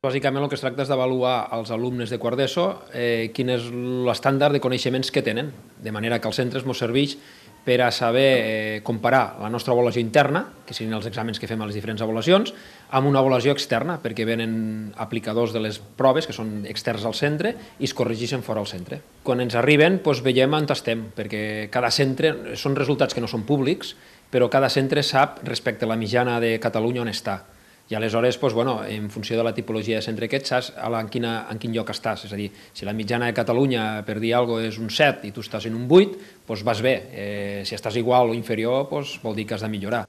Bàsicament el que es tracta és d'avaluar als alumnes de quart d'ESO quin és l'estàndard de coneixements que tenen, de manera que els centres ens serveix per a saber comparar la nostra avaluació interna, que serien els exàmens que fem a les diferents avaluacions, amb una avaluació externa, perquè venen aplicadors de les proves, que són externs al centre, i es corregeixen fora al centre. Quan ens arriben, veiem on estem, perquè cada centre, són resultats que no són públics, però cada centre sap respecte a la mitjana de Catalunya on està. I aleshores, en funció de la tipologia de centre que ets, saps en quin lloc estàs. És a dir, si la mitjana de Catalunya, per dir alguna cosa, és un 7 i tu estàs en un 8, vas bé. Si estàs igual o inferior, vol dir que has de millorar.